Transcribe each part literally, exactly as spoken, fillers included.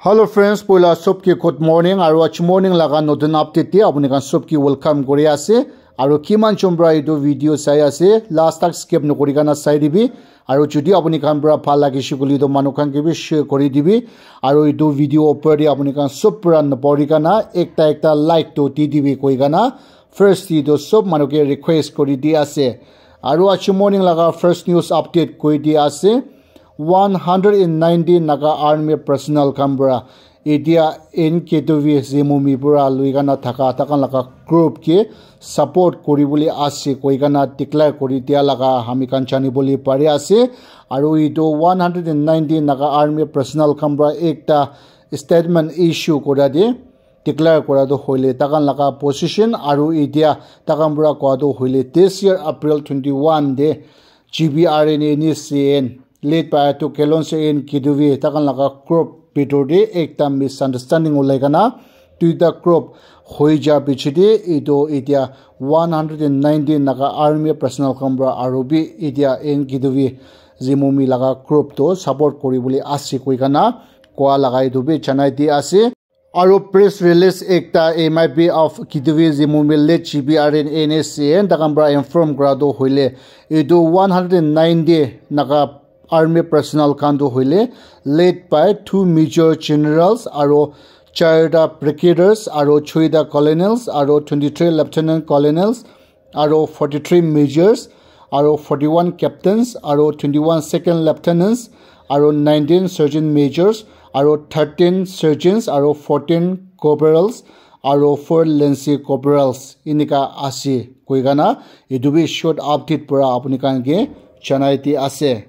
Hello friends, poila sobke good morning aru aji morning laga notun update te apuni khan sobke welcome kuri ase. Aru kiman jon para etu video sai ase, last tak skip nokuri kana sai dibi. Aru jodi apuni khan para bhal lagise koile toh manu khan ke bi share kuri dibi. Aru etu video opor te apuni khan sob para napori kana ekta ekta like toh di dibi koi kana first te toh sob manu ke request kuri di ase. Aru aji morning laga first news update koi di ase. One hundred and ninety Naga Army personnel khan para etia N K W Zimomi para lui kana thaka takan laga group ke support kuri bole ase koi kana declare kuri dia laga ami khan jani bole pari ase. Aru etu one hundred and ninety Naga Army personnel khan para ekta statement issue kura de declare kura tu hoile takan laga position aru etia takan para kua tu hoile this year April twenty one de G B R N N S C N led by Ato Kelonse N Kiduvi takan laga group bitor de ekta misunderstanding ulai kana duita group hoi ja piche de etu etia one hundred and ninety Naga Army personnel khan para aru bi etia N Kiduvi Zimomi laga group to support kuri bole ase koi kana kua laga etu bi janai di ase. Aru press release ekta M I B of Kiduvi Zimomi led G B R N N S C N takan para inform kura tu hoile etu one hundred and ninety Naga Army personnel khan tu hoile led by two major generals aru charta brigaders aru choita colonels aru twenty three lieutenant colonels aru forty three majors aru forty one captains aru twenty one second lieutenants aru nineteen sergeant majors aru thirteen sergeants aru fourteen corporals aru four lance corporals enika ase koi kana etu bi short update para apuni khan ke janai di ase.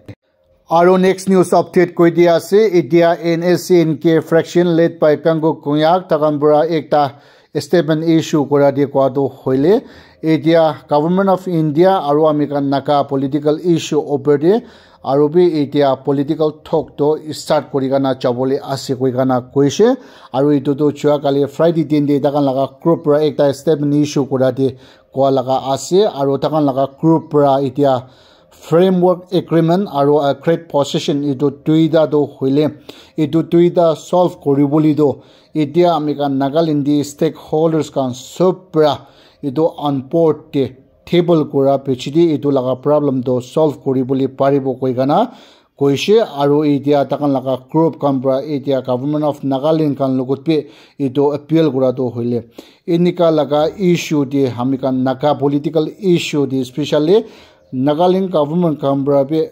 Aru next news update koi di ase, etia N S C N K fraction led by Kango Konyak takan para ekta statement issue kura di kua tu hoile etia Government of India aru ami khan Naga political issue opor de aru bi etia political talk to start kuri kana jabole ase koi kana koise. Aru etu tu jua kali Friday din de takan laga group para ekta statement issue kura di kua laga ase aru takan laga group para etia framework agreement aru a great position etu duita tu hoile etu duita solve kuri bole tu etia ami khan Nagaland di stakeholders khan sob para etu on board de table kura piche de etu laga problem tu solve kuri bole paribo koi kana koise. Aru etia takan laga group khan para etia Government of Nagaland khan logot bi etu appeal kura tu hoile enika laga issue de ami khan Naga political issue de specially Nagaland government khan para bi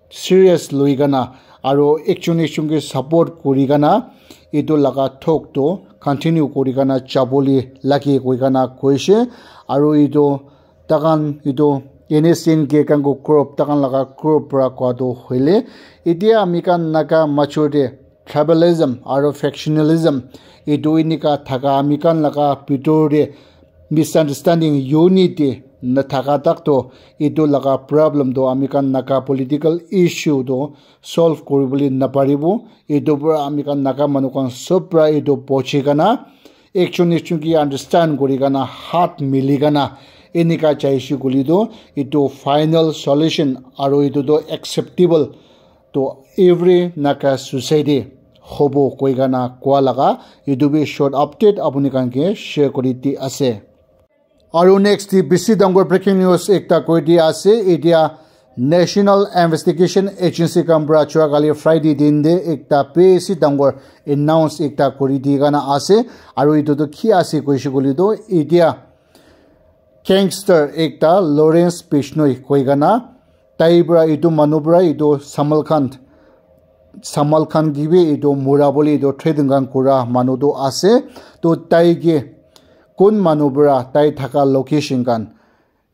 serious lui kana aru ekjon ekjon ke support kuri kana etu laga talk to continue kuri kana jabole lage koi kana koise. Aru etu takan etu N S C N K Kango group takan laga group para kua tu hoile etia ami khan Naga major de tribalism aru factionalism etu enika thaka ami khan laga bitor de misunderstanding unity nathaka tak to etu laga problem to ami khan Naga political issue to solve kuri bole naparibo. Etu para ami khan Naga manu khan sob para etu bochi kana ekjon ekjon ke understand kuri kana hat mili kana enika jaise koile tu etu final solution aru etu tu acceptable to every Naga society hobo koi kana kua laga etu bi short update apuni khan ke share kuri di ase. Aru next di bisi dangor breaking news ekta koi di ase. Etia National Investigation Agency khan para jua kali Friday din de ekta bisi dangor announce ekta kuri di kana ase. Aru etu tu ki ase koise koile tu etia gangster ekta Lawrence Bishnoi koi kana tai para etu manu para etu Samal Khan Samal Khan ke bi etu mura bole etu threaten khan kura manu tu ase. To tai ke kun manu para tai thaka location khan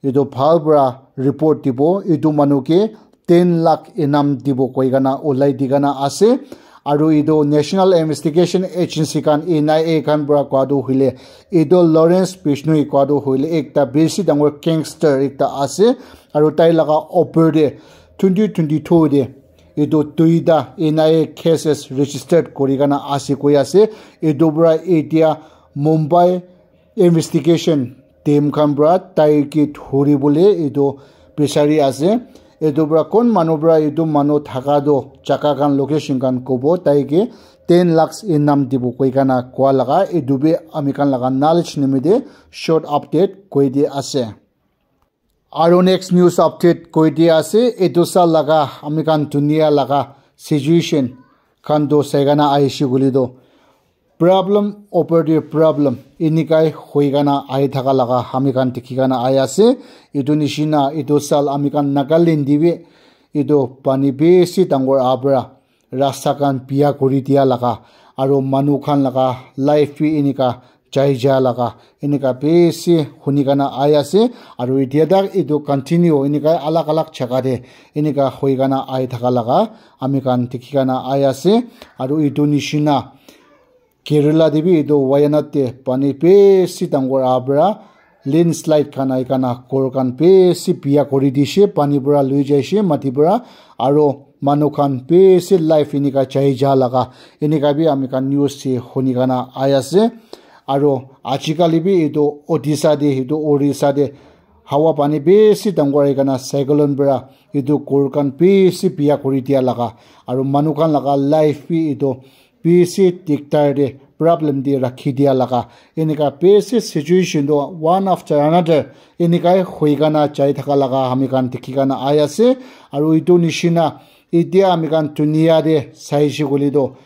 etu bhal para report dibo, etu manu ke ten lakh inam dibo koi kana ulai di kana ase. Aru etu National Investigation Agency khan N I A khan para kua tu hoile etu Lawrence Bishnoi kua tu hoile ekta bisi dangor gangster ekta ase. Aru tai laga opor de twenty twenty two de etu duita N I A cases registered kuri kana ase koi ase. Etu para etia Mumbai investigation team khan para tai ke dhuri bole etu bisari ase. Etu para kon manu para etu manu thaka tu jaga khan location khan kobo, tai ke ten lakhs inam dibo koi kana koa laga, etu bi ami khan laga knowledge nimite short update koi di ase. Aru next news update koi di ase, etu sal laga ami khan dunia laga situation khan to sai kana ahishi koile to problem over the problem inikai hoi kana ahi thaka laga ami khan dikhi kana ahi ase. Etu nishina etu sal ami khan Nagaland te bi etu pani bishi dangor aha para rasta khan biya kuri dia laga, aru manu khan laga life bi enika jai ja laga, enika bishi huni kana ahi ase. Aru etia tak etu continue enika alag alag jaga te enika hoi kana ahi thaka laga ami khan dikhi kana ahi ase. Aru etu nishina Kerala te bi etu Wayanad te pani bishi dangor aha para landslide khan ahi kana ghor khan bishi biya kuri dishe, pani para lui jaishe mati para, aro manu khan bishi life enika jai ja laga enika bi ami khan news te huni kana ahi ase. Aro ajikali bi etu Odisha te, etu Orissa te hawa pani bishi dangor ahi kana cyclone para etu ghor khan bishi biya kuri dia laga, aro manu khan laga life bi etu bishi diktar te problem te rakhi dia laga enika bishi situation to one after another enikai hoi kana jai thaka laga ami khan dikhi kana ahi ase. Aru etu nishina etia ami khan dunia te saishe koile to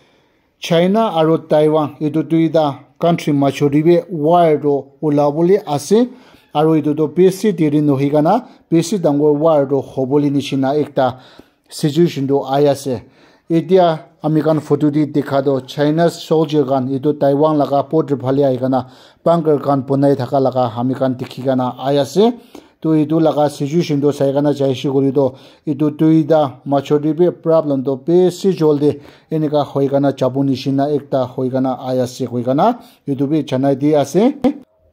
China aru Taiwan etu duita country major te bi war to ulabole ase. Aru etu to bishi deri nohoi kana bishi dangor war to hobole nishina ekta situation tu ahi ase. Etia ami khan photo te dikha toh China soldier khan etu Taiwan laga border phale ahi kena bunker khan bonai thaka laga ami khan dikhi kena ahi ase. Toh etu laga situation tu sai kena jaise koile toh etu duita major te bi problem toh bishi jaldi enika hoi kena jabo nishina ekta hoi kena ahi ase koi kena etu bi janai di ase.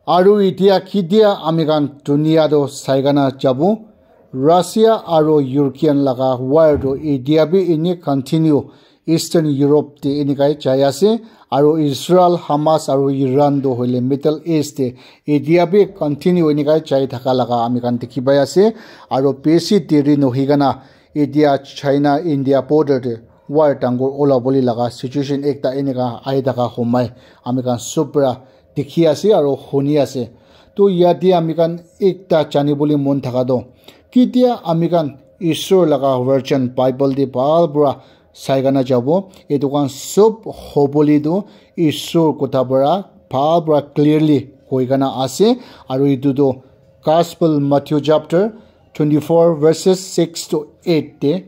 Aru etia ketia ami khan dunia toh sai kena jabo, Russia aru Ukraine laga war toh etia bi eni continue Eastern Europe te enikai jai ase. Aru Israel, Hamas aru Iran toh hoile Middle East te etia bi continue enikai jai thaka laga ami khan dikhi pai ase. Aru bishi deri nohoi kena etia China India border te war dangor ulabole laga situation ekta enika ahi thaka homai ami khan sob para dikhi ase aro huni ase. Toh yate ami khan ekta jani bole mon thaka toh, ketia ami khan Isor laga version Bible te bhal para sai kena jabo, etu khan sob hobole toh Isor kotha para bhal para clearly koi kena ase. Aro etu toh Gospel Matthew chapter twenty-four verses six to eight te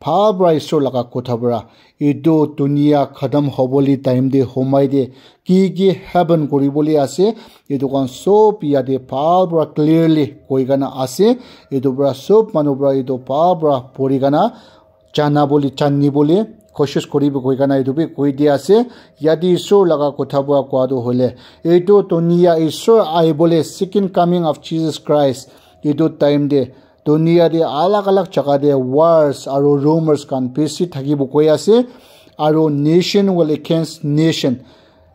bhal para Isor laga kotha para etu dunia khatam hobole time te homai te ki ki happen kori bole ase, etu khan sob yate bhal para clearly koi kena ase. Etu para sob manu para etu bhal para pori kena jana bole, jani bole koshish kori bo koi kena etu bi koi di ase. Yate Isor laga kotha para koa toh hoile etu dunia Isor ahi bole, second coming of Jesus Christ, etu time te dunia te alag alag jaga te wars aru rumors khan bishi thaki bo koi ase. Aru nation will against nation,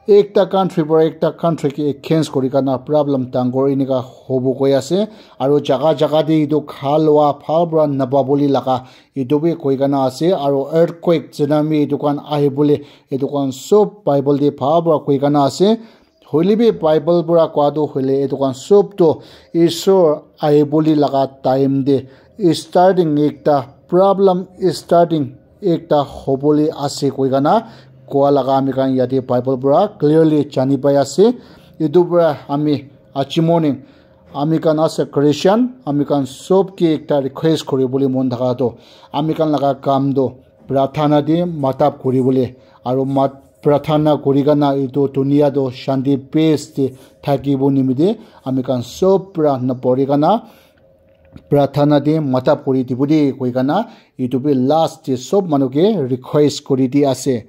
ekta country para ekta country ke against kori kena problem dangor enika hobo koi ase. Aru jaga jaga te etu kha lua bhal para napa bole laga etu bi koi kena ase. Aru earthquake, tsunami etu khan ahi bole etu khan sob Bible te bhal para koi kena ase. Hoile bi Bible para koa toh hoile etu khan sob toh Isor ahi bole laga time te starting ekta problem starting ekta hobole ase koi kena koa laga ami khan yate Bible para clearly jani pai ase. Etu para ami aji morning ami khan ase Christian, ami khan sob ke ekta request kori bole mon thaka toh ami khan laga kam toh prarthana te matab kori bole aru mat-, prarthana kori kena etu dunia toh shanti peace te thaki bo nimite ami khan sob para na pori kena prarthana te matab kori dibo de koi kena etu bi last te sob manu ke request kori di ase.